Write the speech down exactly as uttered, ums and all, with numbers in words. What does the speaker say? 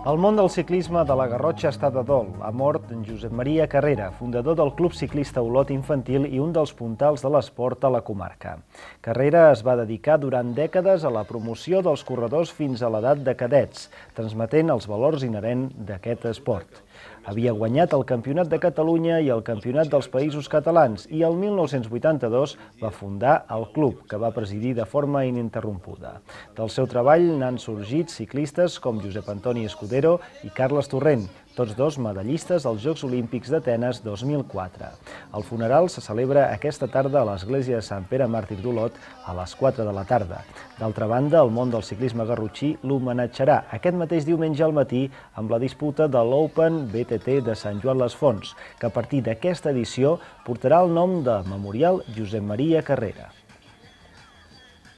El món del ciclisme de la Garrotxa està de dol. Ha mort en Josep Maria Carrera, fundador del Club Ciclista Olot Infantil i un dels puntals de l'esport a la comarca. Carrera es va dedicar durant dècades a la promoció dels corredors fins a l'edat de cadets, transmetent els valors inherents d'aquest esport. Havia guanyat el Campionat de Catalunya i el Campionat dels Països Catalans i el mil nou-cents vuitanta-dos va fundar el club, que va presidir de forma ininterrompuda. Del seu treball n'han sorgit ciclistes com Josep Antoni Escudero i Carles Torrent, tots dos medallistes als Jocs Olímpics d'Atenes dos mil quatre. El funeral se celebra aquesta tarda a l'església de Sant Pere Màrtir d'Olot a les quatre de la tarda. D'altra banda, el món del ciclisme garrotxí l'homenatjarà aquest mateix diumenge al matí amb la disputa de l'Open B T T de Sant Joan les Fonts, que a partir d'aquesta edició portarà el nom de Memorial Josep Maria Carrera.